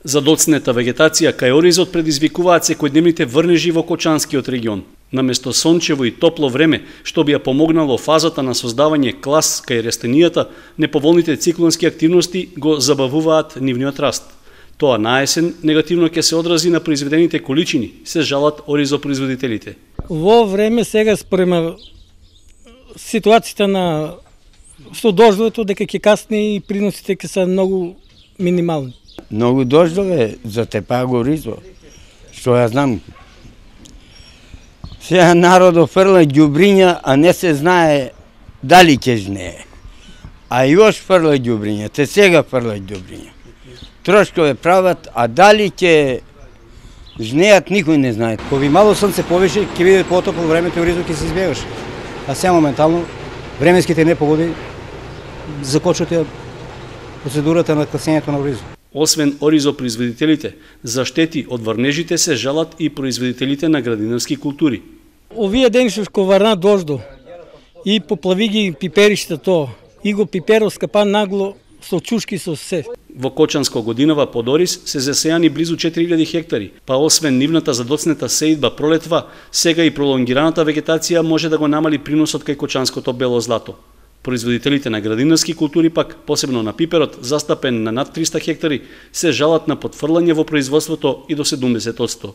Задоцнета вегетација кај оризот предизвикуваат секојдневните врнежи во Кочанскиот регион. Наместо сончево и топло време, што би ја помогнало фазата на создавање клас кај растенијата, неповолните циклонски активности го забавуваат нивниот раст. Тоа на есен негативно ќе се одрази на произведените количини, се жалат оризопроизводителите. Во време сега спрема ситуацијата на со дождовето дека ќе касни и приносите ќе се многу минимални. Многу дождове затепа го оризо, што ја знам. Сега народот фрла ѓубриња, а не се знае дали ќе жнее. А још фрла ѓубриња, те сега фрла ѓубриња. Трошкове прават, а дали ќе жнеат никој не знае. Кој мало сонце повише, ќе биде потопло времето и оризот ќе се избегаш. А сега моментално временските непогоди закочат процедурата на класењето на оризот. Освен оризопроизводителите, за штети од врнежите се жалат и производителите на градинарски култури. Овие дени што врна дождо и поплави ги пиперишта тоа, и го пиперо скапа нагло со чушки со се. Во Кочанско годинава под ориз се засејани близу 4000 хектари, па освен нивната задоцнета сеидба пролетва, сега и пролонгираната вегетација може да го намали приносот кај Кочанското бело злато. Производителите на градинарски култури пак, посебно на пиперот, застапен на над 300 хектари, се жалат на потфрлање во производството и до 70%.